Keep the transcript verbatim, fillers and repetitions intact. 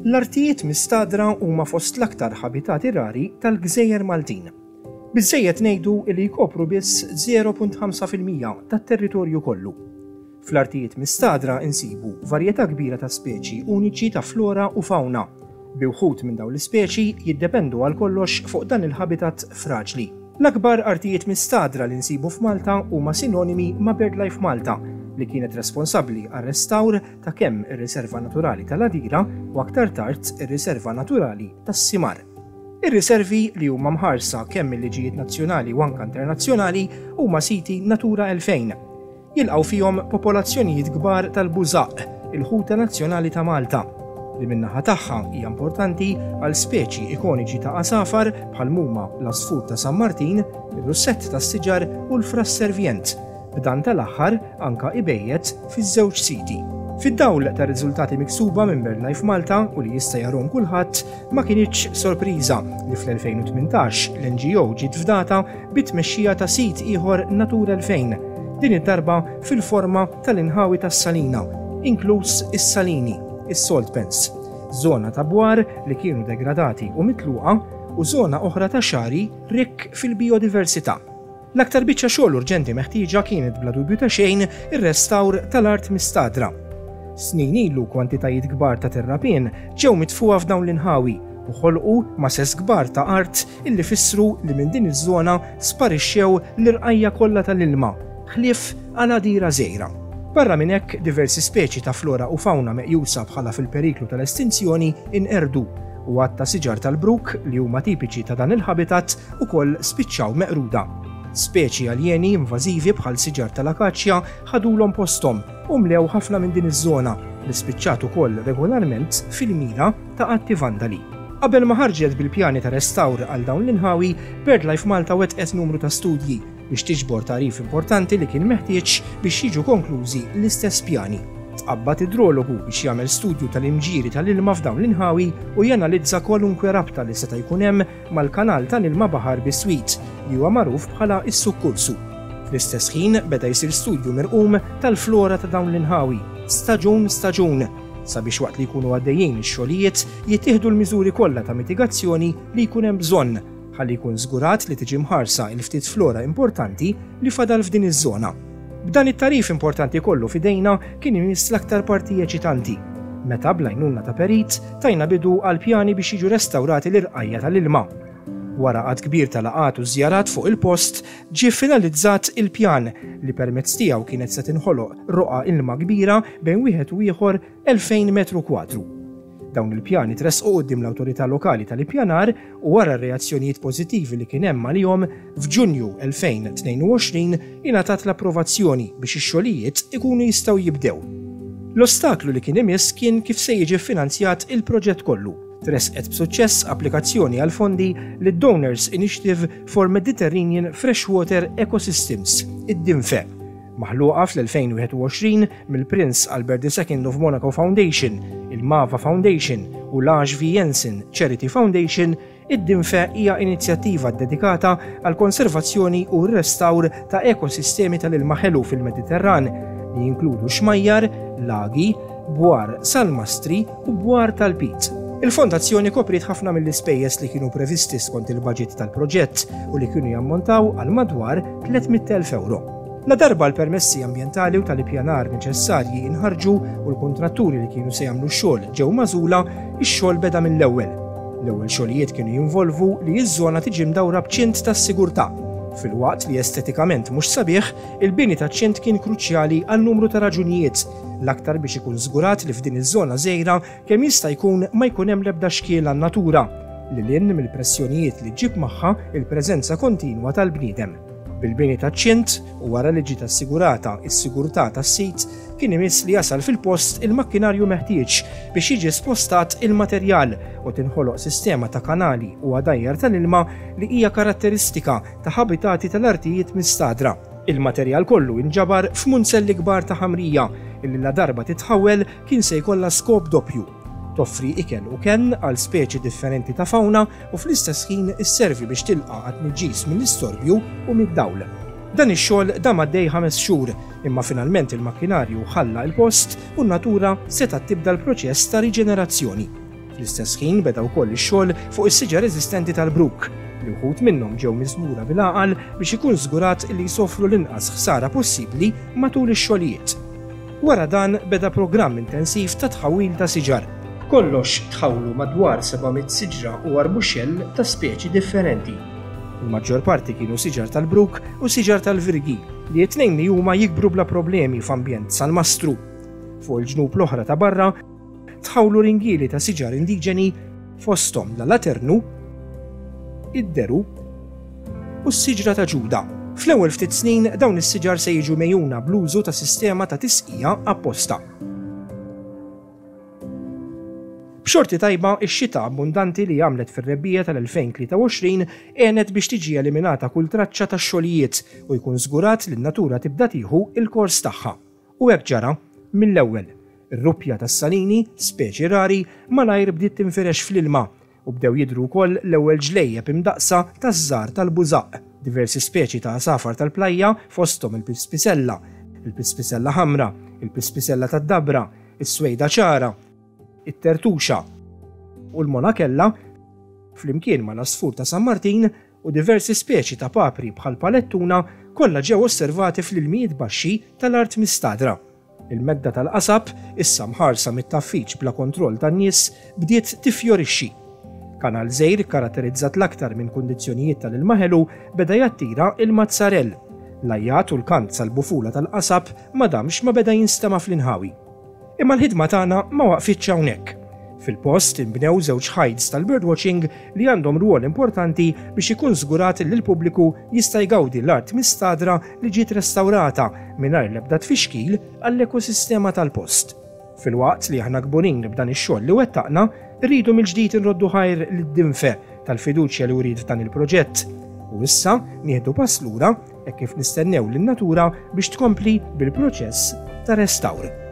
L-artijiet mistagħdra huma fost l-aktar ħabitati rari tal-Gżejjer Maltin. Biżżejjed ngħidu li jkopru biss żero punt ħamsa fil-mija tat-territorju kollu. Fl-artijiet mistagħdra insibu varjetà kbira ta' speċi uniċi ta' flora u fauna, bi wħud minn dawn l-ispeċi jiddependu għal kollox fuq dan il-habitat fraġli. L-akbar artijiet mistagħdra li nsibu f'Malta huma sinonimi ma' BirdLife Malta, li kienet responsabbli għar restawr ta' kemm ir-Riserva Naturali tal-Għadira u aktar tard ir-Riserva Naturali tas-Simar. Ir-riservi, li huma mħarsa kemm il-liġijiet nazzjonali u anka internazzjonali, huma siti Natura elfejn. Jilqgħu fihom popolazzjonijiet kbar tal-bużaq, il-ħuta nazzjonali ta' Malta, li min-naħa tagħha hija importanti għal speċi ikoniċi ta' għasafar bħal huma l-asfur ta' San Martin, ir-russett tas-siġar u l-frasservjent, b'dan tal-aħħar anka ibejjet fiż-żewġ siti. Fid-dawl ta' riżultati miksuba minn BirdLife Malta u li jista' jarahom kulħadd, ma kinitx sorpriża li fl-elfejn u tmintax l-N G O ġiet fdata bit-tmexxija ta' sit ieħor Natura elfejn, din id-darba fil-forma tal-inħawi tas-Salina, inkluż is-Salini, is-Salt Pans, żona ta' bwar li kienu degradati u mitluqa u żona oħra ta' xagħri rikk fil-biodiversità. L-aktar biċċa xogħol urġenti meħtieġa kienet, bla dubju ta' xejn, ir-restawr tal-art mistagħdra. Snin ilu kwantitajiet kbar ta' terrapien ġew mitfuha f'dawn l-inħawi u ħolqu masses kbar ta' art illi fissru li minn din iż-żona sparixxew l-irqajja kollha tal-ilma, ħlief għal għadira żgħira. Barra minn hekk, diversi speċi ta' flora u fauna meqjusa bħala fil-periklu tal-estinzjoni inqerdu u għadd ta' siġar tal-bruk li huma tipiċi ta' dan il-habitat ukoll spiċċaw meqruda. Speċi aljeni invażivi bħal siġar tal-akaċja ħadulhom postom u mlew ħafna minn din iż-żona, li spiċċat ukoll regolarment fil-mira ta' atti vandali. Qabel ma ħarġet bil-pjani ta' restawr għal dawn l-inħawi, BirdLife Malta wetqet numru ta' studji biex tiġbor tagħrif importanti li kien meħtieġ biex jiġu konklużi l-istess pjani. Tqabbad idrologu biex jagħmel studju tal-imġiri tal-ilma f'dawn l-inħawi u janalizza kwalunkwe rabta li seta' jkun hemm mal-kanal tal-ilma baħar biswit, li huwa magħruf bħala is-Sukkursu. Fl-istess ħin beda jsir studju mirqum tal-flora ta' dawn l-inħawi, staġun staġun, sabiex waqt li jkunu għaddejjin ix-xogħlijiet jittieħdu l-miżuri kollha ta' mitigazzjoni li jkun hemm bżonn ħalli jkun żgurat li tiġi mħarsa il-ftit flora importanti li fadal f'din iż-żona. B'dan it-tagħrif importanti kollu f'idejna, kien imiss l-aktar parti eċitanti, meta bl-għajnuna ta' perit tajna bidu għal pjani biex jiġu restawrati l-irqajja tal-ilma. Wara għadd kbir ta' laqgħat u żjarat fuq il-post, ġie finalizzat il-pjan li permezz tiegħu kienet se tinħoloq roqa ilma kbira bejn wieħed u ieħor elfejn metru kwadru. Dawn il-pjani tresqu quddiem l-awtorità lokali tal-ippjanar u, wara reazzjonijiet pożittivi li kien hemm għalihom, f'Ġunju elfejn u tnejn u għoxrin ingħatat l-approvazzjoni biex ix-xogħlijiet ikunu jistgħu jibdew. L-ostaklu li kien imiss kien kif se jiġi finanzjat il-proġett kollu. Tresqet b'suċċess applikazzjoni għal fondi lid Donors Initiative for Mediterranean Freshwater Ecosystems, id-DIMFE, maħluqa fl-elfejn u wieħed u għoxrin mill-Prince Albert the Second of Monaco Foundation, il-Mava Foundation u l-H V Jensen Charity Foundation. Id-DIMFE hija inizjattiva dedikata għal konservazzjoni u r-restawr ta' ekosistemi tal-ilma ħelu fil-Mediterran li jinkludu xmajjar, lagi, bwar salmastri u bwar tal-pit. Il-fondazzjoni kopriet ħafna mill-ispejjeż li kienu previsti skont il-budget tal-proġett u li kienu jammontaw għal madwar tliet mitt elf euro. La darba l-permessi ambientali u tal-ippjanar neċessarji inħarġu u l-kontratturi li kienu se jagħmlu x-xogħol ġew magħżula, ix-xogħol beda mill-ewwel. L-ewwel xogħlijiet kienu jinvolvu li ż-żona tiġi mdawra b'ċint tas-sigurtà. Filwaqt li estetikament mhux sabiħ, il-bini ta' ċint kien kruċjali għal numru ta' raġunijiet, l-aktar biex ikun żgurat li f'din iż-żona żgħira kemm jista' jkun ma jkun hemm l-ebda xkiel għan-natura, lil hinn mill-pressjonijiet li ġġib magħha il-preżenza kontinwa tal-bniedem. Bil-bini ta' ċint u wara li ġiet assigurata s-sigurtà tas-sit, kien imiss li jasal fil-post il-makkinarju meħtieġ biex jiġi spostat il-materjal u tinħoloq sistema ta' kanali u għadajjar tal-ilma li hija karatteristika ta' habitati tal-artijiet mistagħdra. Il-materjal kollu inġabar f'munzelli kbar ta' ħamrija illi, la darba titħawel, kien se jkollha skop doppju: toffri ikel u ken għal speċi differenti ta' fauna u fl-istess ħin isservi biex tilqa' għat-tniġġis mill-istorbju u mid-dawl. Dan ix-xogħol dam għaddej ħames xhur, imma finalment il-makkinarju ħalla il-post u n-natura setgħet tibda l-proċess ta' riġenerazzjoni. Fl-istess ħin beda wkoll ix-xogħol fuq is-siġar eżistenti tal-bruk, li wħud minnhom ġew miżmura bil-għaqal biex ikun żgurat li jsofru l-inqas ħsara possibbli matul ix-xogħlijiet. Wara dan beda programm intensiv ta' tħawwil ta' siġar. B'kollox tħawlu madwar seba' mitt siġra u arbuxell ta' speċi differenti. Il-maġġor parti kienu siġar tal-bruk u siġar tal-virgi li t-tnejn li huma jikbru bla problemi f'ambjent salmastru. Fuq il-ġnub l-oħra ta' barra tħawlu ringieli ta' siġar indiġeni fosthom l-alaternu, id-deru u s-siġra ta' Ġuda. Fl-ewwel ftit snin dawn is-siġar se jiġu mejjuna bl-użu ta' sistema ta' tisqija apposta. B'xorti tajba, ix-xita abbundanti li għamlet fir-rebbiegħa tal-elfejn tlieta u għoxrin għenet biex tiġi eliminata kull traċċa ta' xogħlijiet u jkun żgurat li n-natura tibda tieħu il-kors tagħha. U hekk ġara mill-ewwel. Ir-ruppja tas-salini, speċi rari, malajr bdiet tinfirex fl-ilma u bdew jidhru wkoll l-ewwel ġlejjeb imdaqsa taż-żgħar tal-bużaq. Diversi speċi ta' għasafar tal-plajja fosthom il-pispisella, il-pispisella ħamra, il-pispisella tad-dabra, is-swejda ċara, it-tertuxa u l-monakella, flimkien ma' l-għasfur ta' San Martin u diversi speċi ta' papri bħal palettuna kollha ġew osservati fl-ilmijiet baxxi tal-art mistadra. Il-medda tal-qasab, issa mħarsa mit-taffiċ bla kontroll tan-nies, bdiet tifjorixxi. Kanal żgħir karatterizzat l-aktar minn kundizzjonijiet tal-ilma ħelu beda jattira il-mazzarell. L-ajjat u l-kant sal-bufula tal-qasab ma damx ma beda jinstema' fl-inħawi. Imma l-ħidma tagħna ma waqfitx hawnhekk. Fil-post inbnew żewġ hides tal-birdwatching li għandhom rwol importanti biex ikun żgurat li l-pubbliku jista' jgawdi l-art mistadra li ġiet restawrata mingħajr l-ebda tfixkil għall-ekosistema tal-post. Filwaqt li aħna kburin b'dan ix-xogħol li wettaqna, rridu mill-ġdid inroddu ħajr lid-Dimfe tal-fiduċja li wrid f'dan il-proġett. U issa nieħdu pass lura hekk kif nistennew lin-natura biex tkompli bil-proċess ta' restawr.